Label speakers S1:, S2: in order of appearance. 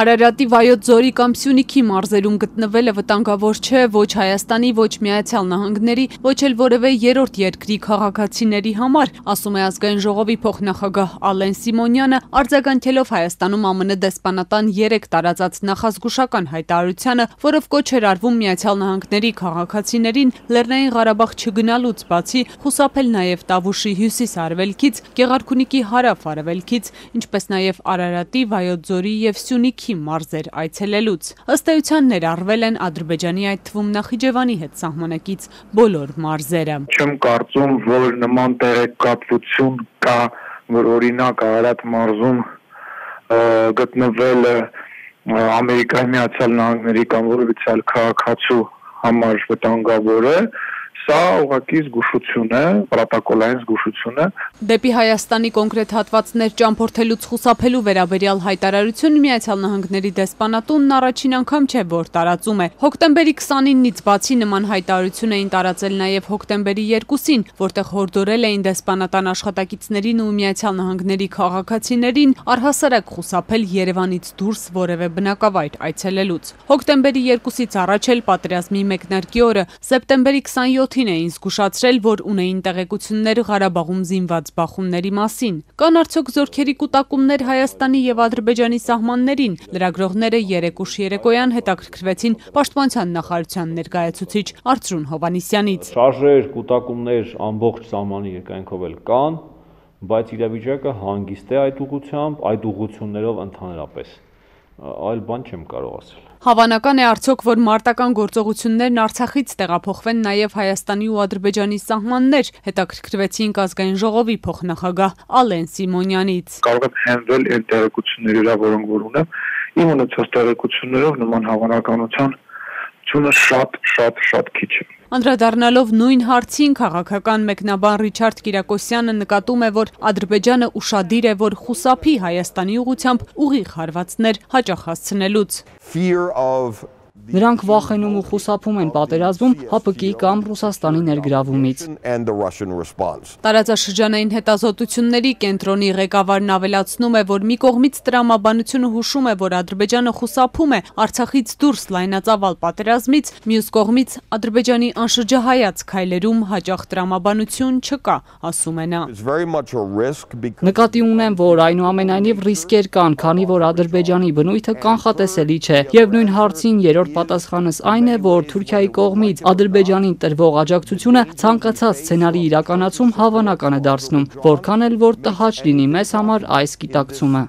S1: Արարատի Վայոց ձորի կամ Սյունիքի մարզերում գտնվելը վտանգավոր չէ ոչ Հայաստանի, ոչ Միացյալ Նահանգների, ոչ էլ որևէ երրորդ երկրի քաղաքացիների համար, ասում է Ազգային ժողովի փոխնախագահ Ալեն Սիմոնյանը, արձագանքելով Հայաստանում ԱՄՆ դեսպանատան 3 տարածած նախազգուշական հայտարարությանը, որով կոչ էր արվում Միացյալ Նահանգների քաղաքացիներին Լեռնային Ղարաբաղ չգնալուց բացի խուսափել նաև Տավուշի հյուսիս-արևելքից, Գեղարքունիքի հարավ-արևելքից, ինչպես նաև Արարատի, Վայոց ձորի և Սյունիքի մարզեր այցելելուց։ Ըստ էության ներառվել են Ադրբեջանի, այդ թվում Նախիջևանի հետ սահմանակից բոլոր մարզերը։
S2: Չեմ կարծում, որ նման տեղեկատվություն կա, որ օրինակ Արարատ մարզում գտնվելը Ամերիկայի Միացյալ Նահանգների կամ որևիցե այլ քաղաքացու համար վտանգավոր է։ Սա ուղղակի զգուշություն է, պրոտոկոլային զգուշություն է։
S1: Դեպի Հայաստանի կոնկրետ հատվածներ ճամփորդելուց խուսափելու վերաբերյալ հայտարարություն Միացյալ Նահանգների դեսպանատունն առաջին անգամ չէ, որ տարածում է։ Հոկտեմբերի 29-ից բացի նման հայտարարություն էին տարածել նաև հոկտեմբերի 2-ին, որտեղ հորդորել էին դեսպանատան աշխատակիցներին ու Միացյալ Նահանգների քաղաքացիներին առհասարակ խուսափել Երևանից դուրս որևէ բնակավայր այցելելուց։ Հոկտեմբերի 2-ից առաջ էլ պատերազմի մեկնարկի օրը սեպտեմբերի 27-ին էին զգուշացրել, որ ունեին տեղեկություններ Ղարաբաղում զինված բախումների մասին։ Կան արդյոք զորքերի կուտակումներ Հայաստանի և Ադրբեջանի սահմաններին։ Լրագրողները երեկուշ երեկոյան հետաքրքրվեցին Պաշտպանության նախարարության ներկայացուցիչ Արծրուն Հովհաննիսյանից։
S3: Շարժեր, կուտակումներ ամբողջ սահմանի երկայնքով էլ կան, բայց իրավիճակը հանգիստ է այդ ուղղությամբ, այդ ուղղություններով ընդհանրապես։ Այլ բան չեմ կարող ասել։
S1: Հավանական է արդյոք, որ մարտական գործողություններն Արցախից տեղափոխվեն նաև Հայաստանի ու Ադրբեջանի սահմաններ, հետաքրքրվեցինք Ազգային ժողովի փոխնախագահ Ալեն Սիմոնյանից։
S2: Կարող եմ հենվել այն տեղեկությունների, որոնք որ ունեմ, իմ ունեցած տեղեկություններով նման հավանականության շատ քիչ է։
S1: Անդրադառնալով նույն հարցին քաղաքական մեկնաբան Ռիչարդ Կիրակոսյանը նկատում է, որ Ադրբեջանը ուշադիր է, որ խուսափի Հայաստանի ուղղությամբ ուղիղ հարվածներ հաճախ հասցնելուց։
S4: Նրանք վախենում ու խուսափում են պատերազմում ՀԱՊԿ-ի կամ Ռուսաստանի ներգրավումից։
S1: Տարածաշրջանային հետազոտությունների կենտրոնի ղեկավարն ավելացնում է, որ մի կողմից տրամաբանությունը հուշում է, որ Ադրբեջանը խուսափում է Արցախից դուրս լայնածավալ պատերազմից, մյուս կողմից Ադրբեջանի անշրջահայաց քայլերում հաճախ տրամաբանություն չկա, ասում է նա։
S4: Նկատի ունեմ, որ այնուամենայնիվ ռիսկեր կան, քանի որ Ադրբեջանի բնույթը կանխատեսելի չէ, եւ նույն հարցին երրորդ պատասխանս այն է, որ Թուրքիայի կողմից Ադրբեջանին տրվող աջակցությունը ցանկացած սցենարի իրականացում հավանական է դարձնում, որքան էլ որ տհաճ լինի մեզ համար այս գիտակցումը։